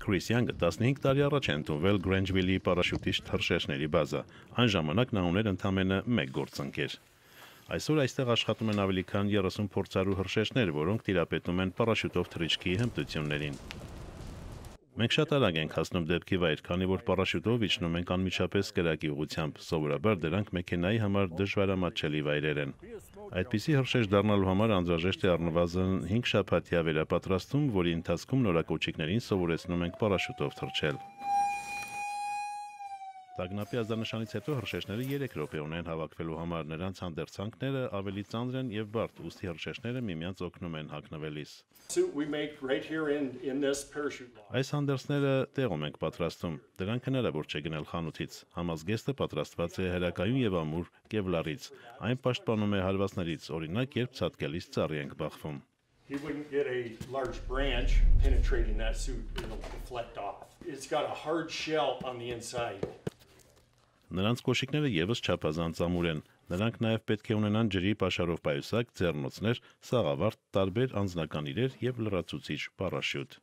Քրիս Յանգը 15 տարի առաջ է ընդունվել Գրանջվիլի պարաշյուտիստ հրշեջների բազա, այն ժամանակ նա ուներ ընդամենը 1 գործընկեր։ Այսօր այստեղ աշխատում են ավելի քան 30 փորձառու հրշեջներ, որոնք տիրապետում են պարաշյուտով թռիչքի հմտություններին։ Մենք շատ արագ ենք հասնում դեպքի վայր, քանի որ պարաշյուտով իջնում ենք անմիջապես կրակի ուղղությամբ, սովորաբար դրանք մեքենայի համար դժվարամատչելի վայրեր են։ Այդպիսի հրշեջ դառնալու համար անհրաժեշտ է առնվազն 5 շաբաթյա վերապատրաստում, որի ընթացքում նորակոչիկներին սովորեցնում ենք պարաշյուտով թռչել։ Տագնապի ազդանշանից հետո հրշեջները 3 րոպե ունեն հավաքվելու համար, նրանց հանդերձանքները ավելի ծանր են եւ բարդ, ուստի հրշեջները միմյանց օգնում են հագնվելիս։ Այս հանդերձները տեղում ենք պատրաստում, դրանք հնարավոր չէ գնել խանութից։ Համազգեստը պատրաստված է հրակայուն եւ ամուր կևլարից, այն պաշտպանում է հարվածներից, օրինակ երբ ցատկելիս ծառի ենք բախվում։ He wouldn't get a large branch penetrating that suit, it'll deflect off. It's got a hard shell on the inside. Նրանց կոշիկները եւս չափազանց ամուր են։ Նրանք նաեւ պետք է ունենան ջրի պաշարով պայուսակ, ձեռնոցներ, սաղավարտ, տարբեր անձնական իրեր եւ լրացուցիչ պարաշյուտ։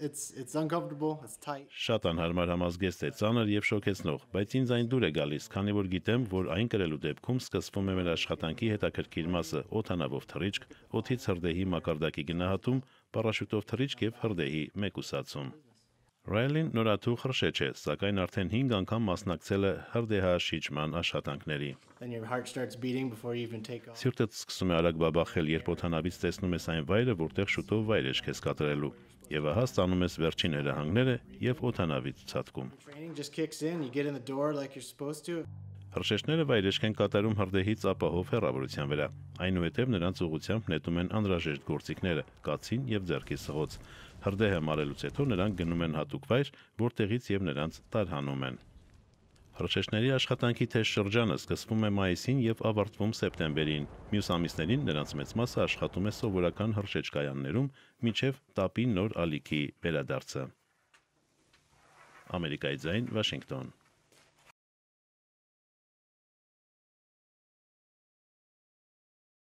It's uncomfortable, it's tight. Շատ անհարմար համազգեստ է, ծանր եւ շոկեցնող, բայց ինձ այն դուր է գալիս, քանի որ գիտեմ, որ այն կրելու դեպքում սկսվում է մեր աշխատանքի հետաքրքիր մասը՝ օդանավով թռիչք, օդից հրդեհի մակարդակի գնահատում, պարաշյուտով թռիչք եւ հրդեհի մեկուսացում։ Ռայլին նորաթուխ հրշեջ է, սակայն արդեն 5 անգամ մասնակցել է հրդեհաշիջման աշխատանքների։ Սիրտդ սկսում է արագ բաբախել, երբ օդանավից տեսնում ես այն վայրը, որտեղ շուտով վայրեջք ես կատարելու, եւ ահա ստանում ես վերջին հրահանգները եւ օդանավից ցատկում։ Հրշեջները վայրեջք են կատարում հրդեհից ապահով հեռավորության վրա։ Այնուհետև նրանց ուղղությամբ նետում են անհրաժեշտ գործիքները՝ կացին եւ ձեռքի սղոց։ Հրդեհը մարելուց հետո նրանք գնում են հատուկ վայր, որտեղից եւ նրանց տարհանում են։ Հրշեջների աշխատանքի թեժ շրջանը սկսվում է մայիսին եւ ավարտվում սեպտեմբերին։ Մյուս ամիսներին նրանց մեծ մասը աշխատում է սովորական հրշեջկայաններում, մինչեւ տապի նոր ալիքի վերադարձը։ Ամերիկայի ձայն, Վաշինգտոն։